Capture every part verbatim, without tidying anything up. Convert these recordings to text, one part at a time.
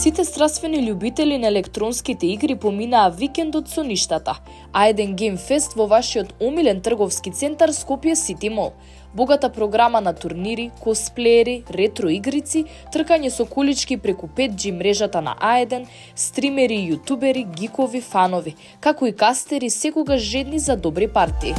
Сите страствени љубители на електронските игри поминаа викендот со ништата. А еден Game Fest во вашиот омилен трговски центар Скопје Сити Мол. Богата програма на турнири, косплеери, ретро игрици, тркање со колички преку пет джи мрежата на А еден, стримери, јутубери, гикови, фанови, како и кастери секогаш жедни за добри партии.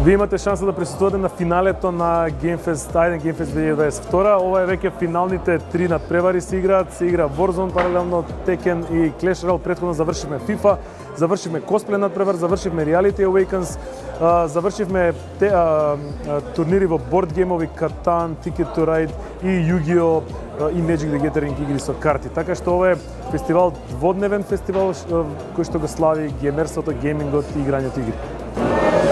Вие имате шанса да присуствувате на финалето на Game Fest, А еден Game Fest две илјади дваесет и втора. Ова е веќе финалните три надпревари се играат. Се игра Warzone паралелно, Tekken и Clash Royale. Претходно завршивме FIFA, завршивме косплей надпревар, завршивме Reality Awakens, завршивме те, а, а, турнири во борд геймови, Catan, Ticket to Ride и Yu-Gi-Oh! И Magic the Gathering игри со карти. Така што ова е фестивал, дводневен фестивал кој што го слави геймерството, геймингот и играњето игри.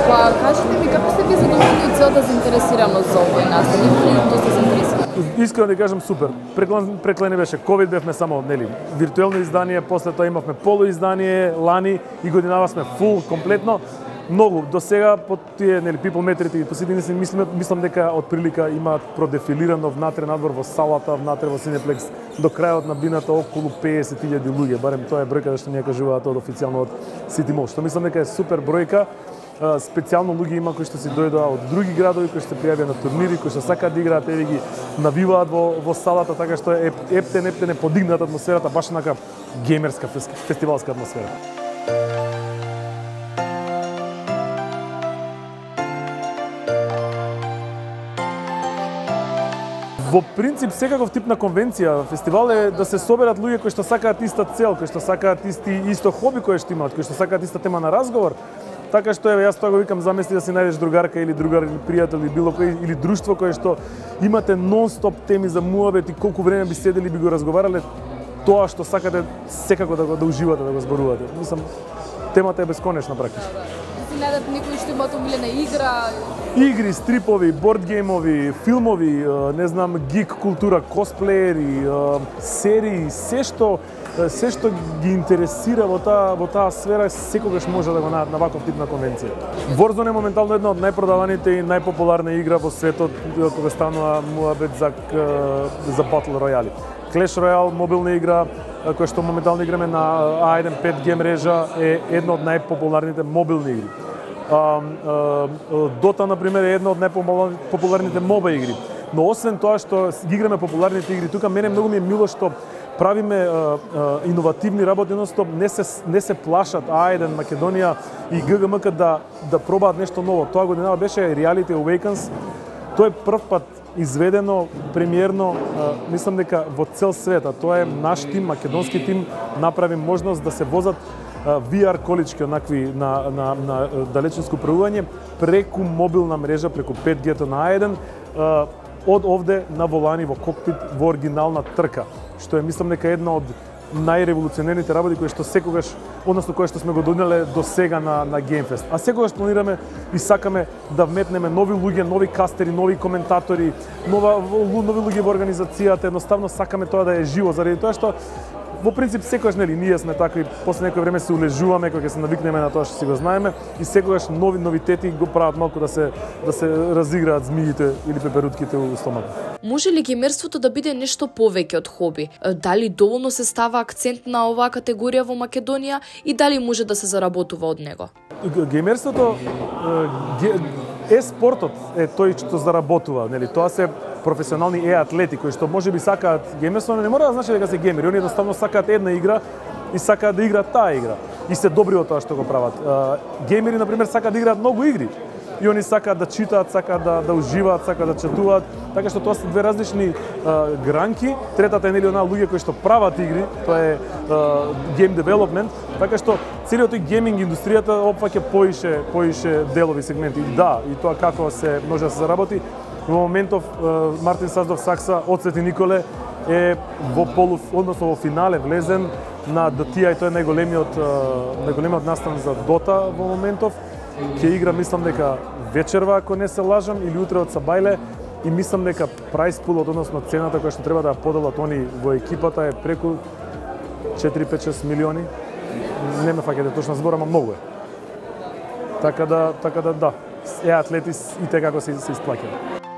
Па, кажете ми како сте ви задоволни од целата заинтересираност за овој настан? Или доста заинтересирани? Искрено да кажам супер. Преклен, преклени беше ковид, бевме само нели виртуелно издание, после тоа имавме полуиздание лани и годинава сме фул комплетно. Многу до сега по тие нели people метрите и посетени се мислам мислам дека од прилика има продефилирано внатре надвор во салата, внатре во Cineplex до крајот на бината околу песет илјади луѓе, барем тоа е бројка што ние кажуваат од официјално од City Mall, што мислам дека е супер бројка. Специјално луѓе има кои што си дојдоа од други градови, кои што пријавија на турнири, кои што сакаат да играат, еве ги навиваат во во салата, така што е ептен ептен е подигната атмосферата, баш нака геймерска фестивалска атмосфера. Во принцип, секаков тип на конвенција, фестивал е да се соберат луѓе кои што сакаат иста цел, кои што сакаат исти исто хоби кои што имаат, кои што сакаат иста тема на разговор. Така што еве јас тоа го викам, замисли да си најдеш другарка или другар или пријател или било кој или друштво кое што имате нон-стоп теми за муабет и колку време би седели би го разговарале, тоа што сакате секако да го да уживате, да го зборувате. Мислам, темата е бесконечна практично. Си најдат некои што имаат омилена игра? Игри, стрипови, борд геймови, филмови, не знам, гик култура, косплеери, серии, се што се што ги интересира во таа во таа сфера секогаш може да го најдат на ваков тип на конвенција. Warzone е моментално една од најпродаваните и најпопуларна игра во светот кога станува муабет за за Battle Royale. Clash Royale, мобилна игра која што моментално играме на А еден пет джи мрежа, е една од најпопуларните мобилни игри. Dota, например, е една од најпопуларните моба игри. Но освен тоа што ги играме популарните игри, тука мене многу ми е мило што правиме а, а, иновативни работи, едностоп не се не се плашат А еден Македонија и Г Г М К да да пробаат нешто ново. Тоа годинава беше Reality Awakens. Тоа е прв пат изведено премиерно, а, мислам дека во цел свет, а тоа е наш тим, македонски тим, направи можност да се возат ви ар колички онакви на на на далечинско правување преку мобилна мрежа, преку пет джи на А еден, а, од овде на волани во кокпит во оригинална трка, што е мислам дека една од најреволуционерните работи кои што секогаш, односно кои што сме го донеле до сега на на Game Fest. А секогаш планираме и сакаме да вметнеме нови луѓе, нови кастери, нови коментатори, нова нови луѓе во организацијата, едноставно сакаме тоа да е живо заради тоа што во принцип секогаш нели ние сме такви, после некој време се улежуваме кога ќе се навикнеме на тоа што си го знаеме и секогаш нови новитети го прават малку да се да се разиграат змиите или пеперутките у стомакот. Може ли геймерството да биде нешто повеќе од хоби? Дали доволно се става акцент на оваа категорија во Македонија и дали може да се заработува од него? Геймерството е спортот е тој што заработува, нели? Тоа се професионални е-атлети кои што можеби сакаат геймерство, но не мора да значи дека се геймери, они едноставно сакаат една игра и сакаат да играат таа игра и се добри во тоа што го прават. Геймери на пример сакаат да играат многу игри и они сакаат да читаат, сакаат да да уживаат, сакаат да четуваат, така што тоа се две различни а, гранки. Третата е нели онаа луѓе кои што прават игри, тоа е game development, така што целиот тој гейминг индустријата опфаќа поише поише делови сегменти. И да, и тоа како се може да се заработи. Во моментов Мартин Саздов Сакса од Свети Николе е во полу, односно во финале влезен на Д Т А и тој е најголемиот најголемиот настан за Дота во моментов. Ќе игра мислам дека вечерва, ако не се лажам, или утре од Сабајле и мислам дека прайс пулот, односно цената која што треба да ја поделат они во екипата е преку четири пет шест милиони. Не ме фаќате точно збор, ама многу е. Така да, така да, да. Е, атлети и те како се, се исплаќаат.